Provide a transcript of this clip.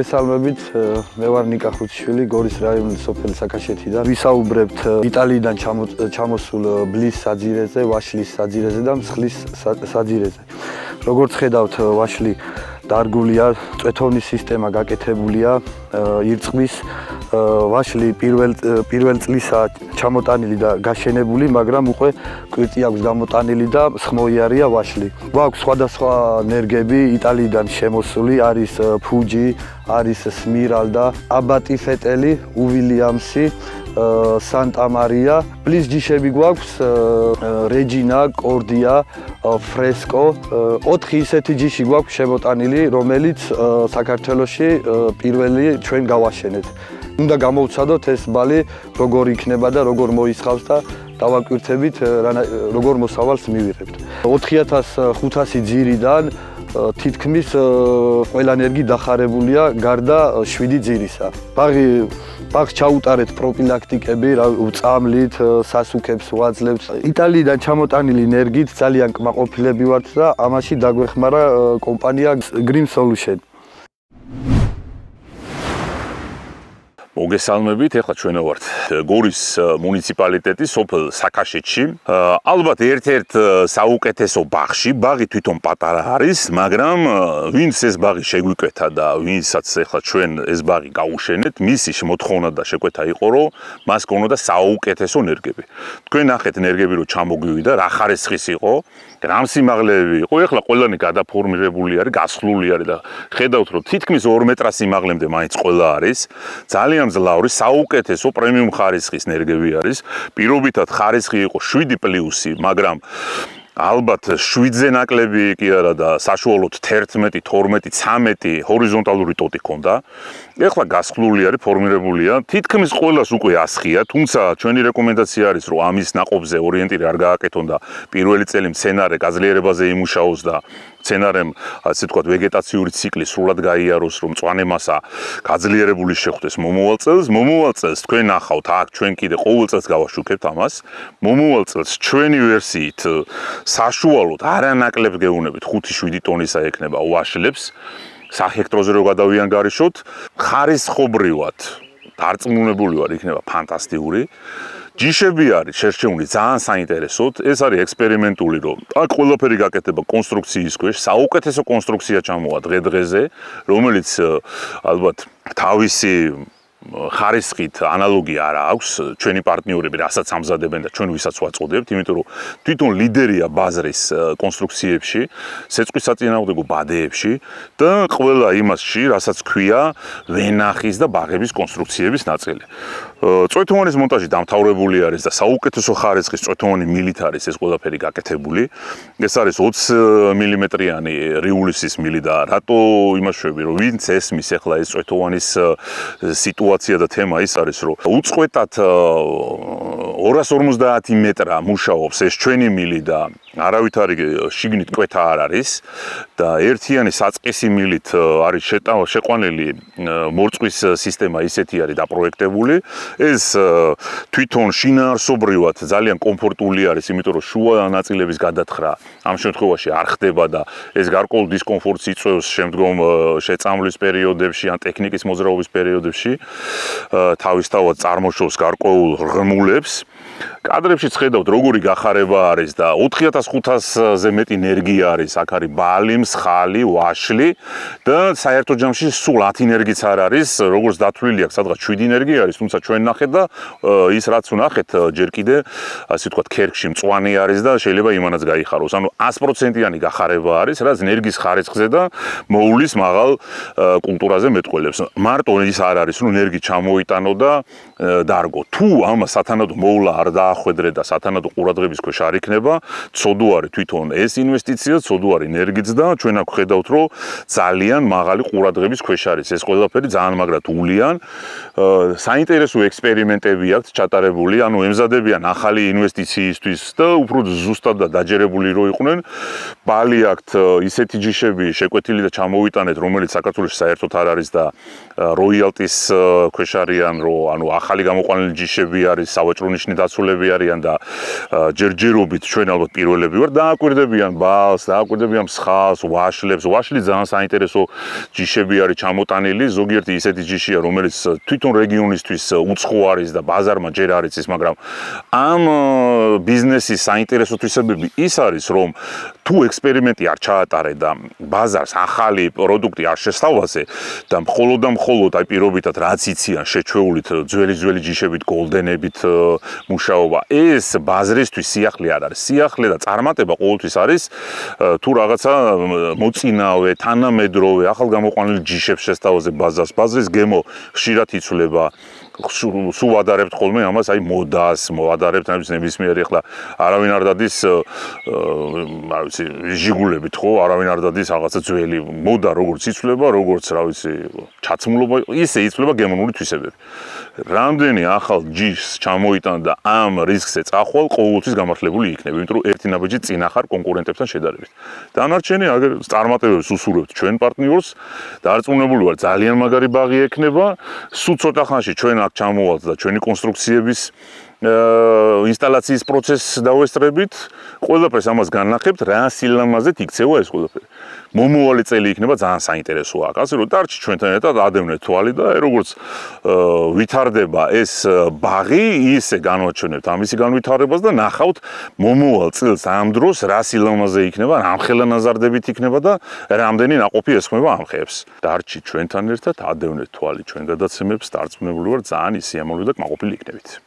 მოგესალმებით, მე ვარ ნიკა ხუთიშვილი, გორის რაიონის სოფელი საკაშეთიდან. ვისაუბრებთ იტალიიდან ჩამოსულ ბლის საძირეზე, ვაშლის საძირეზე და მსხლის საძირეზე. როგორც ხედავთ, ვაშლი დარგულია, წვეთოვნის სისტემა გაკეთებულია, ირწყვის ვაშლი პირველ წლისა ჩამოტანილი და გაშენებული, მაგრამ უკვე კვირტი აქვს გამოტანილი და სხმოიარია ვაშლი. გვაქვს სხვადასხვა ნერგები იტალიიდან შემოსული, არის ფუჯი, არის სმირალდა, აბატი ფეტელი, უვილიამსი, სანტა მარია. ბლის ჯიშები გვაქვს რეჯინა, კორდია, ფრესკო. 4 ისეთი ჯიში გვაქვს შემოტანილი, რომელიც საქართველოში პირველი ჩვენ გავაშენეთ. უნდა გამოვცადოთ ეს ბალი როგორ იქნება და როგორ მოისხავს და დავაკვირთებით როგორ მოსავალს მივიღებთ. 4500 ძირიდან თითქმის ყველა ნერგი დახარებულია გარდა 7 ძირისა. ბაღს ჩაუტარეთ პროფილაქტიკები, წამლით, სასუქებს ვაძლევთ. იტალიიდან ჩამოტანილი ნერგით ძალიან კმაყოფილები ვართ და ამაში დაგვეხმარა კომპანია Green Solution. მოგესალმებით, ეხლა ჩვენ ვართ გორის მუნიციპალიტეტის სოფელ საკაშეთში. ალბათ ერთ-ერთ საუკეთესო ბაღში, ბაღი თვითონ პატარა არის, მაგრამ ვინც ეს ბაღი შეგვიკვეთა და ვინცაც ეხლა ჩვენ ეს ბაღი გავუშენეთ, მისი მოთხოვნა და შეკვეთა იყო, რომ მას გქონოდა საუკეთესო ნერგები. თქვენ ნახეთ ნერგები რომ ჩამოგვივიდა, რა ხარისხის იყო, რა სიმაღლეები იყო, ეხლა ყველანი გადაფორმირებული არის, გასხლული არის და ხედავთ რომ თითქმის 2 მეტრა სიმაღლემდე მაინც ყველა არის. ძალიან მძლავრი, საუკეთესო პრემიუმ ხარისხის ნერგები არის. პირობითად ხარისხი იყო 7+, მაგრამ ალბათ 7-ზე ნაკლები კი არა და საშუალოდ 11, 12, 13 ჰორიზონტალური ტოტი ქონდა. ეხლა გასხლული არის, ფორმირებულია. თითქმის ყველას უკვე ასხია, თუმცა ჩვენი რეკომენდაცია არის, რომ ამის ნაყოფზე ორიენტირი არ გააკეთონ და პირველი წელი მცენარე გაძლიერებაზე იმუშაოს და მცენარემ, ასე ვთქვათ, ვეგეტაციური ციკლი სრულად გაიაროს, რომ მწვანე მასა გაძლიერებული შეხვდეს მომავალ წელს. მომავალ წელს თქვენ ნახავთ, აქ ჩვენ კიდე ყოველ წელს გავაშუქებთ ამას. მომავალ წელს ჩვენი ვერსიით საშუალოდ არანაკლებ გეუნებით 5-7 ტონისა ექნება ვაშლებს. საჰექტროზე რო გადავიანგარიშოთ, ხარისხობრივად დარწმუნებული ვარ, იქნება ფანტასტიკური. ჯიშები არის შერჩეული ძალიან საინტერესოდ, ეს არის ექსპერიმენტული, რომ აქ ყველაფერი გაკეთება კონსტრუქციის ქვეშ, საუკეთესო კონსტრუქცია ჩამოვა დღე-დღეზე, რომელიც ალბათ თავისი ხარისხით ანალოგი არ აქვს, ჩვენი პარტნიორები რასაც ამზადებენ და ჩვენ ვისაც ვაწოდებთ, იმიტომ რომ თვითონ ლიდერია ბაზრის კონსტრუქციებში, სეწყვის საწინააღმდეგო ბადეებში და ყველა იმასში, რასაც ქვია ვენახის და ბაღების კონსტრუქციების ნაწილი. წვეთოვანის მონტაჟი დამთავრებული არის და საუკეთესო ხარისხის წვეთოვანი მილით არის ეს ყველაფერი გაკეთებული. ეს არის 20 მმ-იანი რიულისის მილი და რატო იმაშვები, რომ ვინც ესმის ახლა ეს წვეთოვანის სიტუაცია და თემა ის არის, რომ უწყვეტად 250 მეტრა მუშაობს ეს ჩვენი მილი და არავითარი შიგნით კვეთა არ არის და ერთიანი საწყისი მილით არის შეყვანილი მორწყვის სისტემა ისეთი არის დაპროექტებული. ეს თვითონ შინაარსობრივად ძალიან კომფორტული არის, იმიტომ რომ შუა ნაწილების გადათხრა ამ შემთხვევაში არ ხდება და ეს გარკვეულ დისკომფორტს იწვევს შემდგომ შეწამვლის პერიოდებში ან ტექნიკის მოძრაობის პერიოდებში. თავისთავად წარმოშობს გარკვეულ ღრმულებს. კადრებშიც ხედავთ როგორი გახარება არის და 4500-ზე მეტი ნერგია არის, აქ არის ბალი, მსხალი, ვაშლი და საერთო ჯამში სულ 10 ნერგიც არ არის, როგორც დათვლილი აქვს, სადღაც 7 ნერგი არის, თუმცა ჩვენ ნახეთ და ის რაც ვნახეთ ჯერ კიდე, ასე ვთქვათ, ქერქში მწვანე არის და შეიძლება იმანაც გაიხაროს. ანუ 100%-იანი გახარება არის, რაც ნერგის ხარისხზე და მოულის მაღალ კულტურაზე მეტყველებს. მარტო ის არ არის, რომ ნერგი ჩამოიტანო და დარგო. თუ ამას სათანადო მოვლა არ დაახვედრე და სათანადო ყურადღების ქვეშ არ იქნება, ცოდო არის თვითონ ეს ინვესტიცია, ცოდო არის ნერგიც და ჩვენ აქ ხედავთ, რომ ძალიან მაღალი ყურადღების ქვეშ არის ეს ყველაფერი, ძალიან მაგრად ულიან. საინტერესო ექსპერიმენტები აქვთ ჩატარებული, ანუ ემზადებიან ახალი ინვესტიციისთვის და უფრო ზუსტად და დაჯერებული რო იყვნენ. ბალი აქვთ ისეთი ჯიშები შეკვეთილი და ჩამოვიტანეთ, რომელიც საქართველოში საერთოდ არ არის და როიალტის ქვეშ არიან, რომ ანუ ახალი გამოყვანილი ჯიშები არის, სავაჭრო ნიშნით დაცულები ადამიანები არიან და ჯერჯერობით ჩვენ ალბათ პირველები ვარ, დააკვირდებიან ბალს, დააკვირდებიან მსხალს, ვაშლებს. ვაშლი ძალიან საინტერესო ჯიშები არის ჩამოტანილი, ზოგიერთი ისეთი ჯიშია, რომელიც თვითონ რეგიონისთვის უცხო არის და ბაზარმა ჯერ არ იცის, მაგრამ ამ ბიზნესის საინტერესო თვისებები ის არის, რომ თუ ექსპერიმენტი არ ჩაატარე და ბაზარს ახალი პროდუქტი არ შესთავაზე და მხოლოდ აი პირობითად რაც იციან შეჩვეულით ძველი ჯიშებით, გოლდენებით მუშაობა, ეს ბაზრისთვის სიახლე არ არის. სიახლე და წარმატება ყოველთვის არის თუ რაღაცა მოწინავე, თანამედროვე, ახალგამოყვანილი ჯიშებს შესთავაზე ბაზარს. ბაზრის გემო ხშირად იცვლება. სულ ვადარებთ ხოლმე ამას, აი მოდას, მოვადარებთ ნებისმიერი ახლა არავინ არ დადის არ ვიცი, ჟიგულებით ხო, არავინ არ დადის რაღაცა ძველი მოდა როგორც იცვლება, როგორც რა ვიცი, ჩაცმულობა, ისე იცვლება გემონური თვისებები. რამდენი ახალ ჯიშს ჩამოიტან და ამ რისკზე წახვალ, ყოველთვის გამართლებული იქნება, იმიტომ რომ ერთი ნაბიჯი წინ ახარ კონკურენტებთან შედარებით. დანარჩენი აგერ წარმატებებს უსურვებთ ჩვენ პარტნიორს, დარწმუნებული ვარ, ძალიან მაგარი ბაღი ექნება, სულ ცოტა ხანში ჩვენ აქ ჩამოვალთ და ჩვენი კონსტრუქციების ინსტალაციის პროცესს დავესწრებით, ყველაფერს ამას განნახებთ, რა სილამაზეთ იქცევა ეს ყველაფერი. მომავალი წელი იქნება ძალიან საინტერესო აქ. ასე რომ დარჩი ჩვენთან ერთად ადევნეთ თვალი და როგორც ვითარდება ეს ბაღი, ისე განვაჩვენებთ ამისი განვითარებას და ნახავთ მომავალ წელს ამ დროს რა სილამაზე იქნება, რამხელა ნაზარდებით იქნება და რამდენი ნაყოფი ესხმება ამ ხეებს. დარჩი ჩვენთან ერთად ადევნეთ თვალი ჩვენ გადაცემებს, დარწმუნებული ვარ ძალიან ისიამოვნებად და კმაყოფილი იქნებით.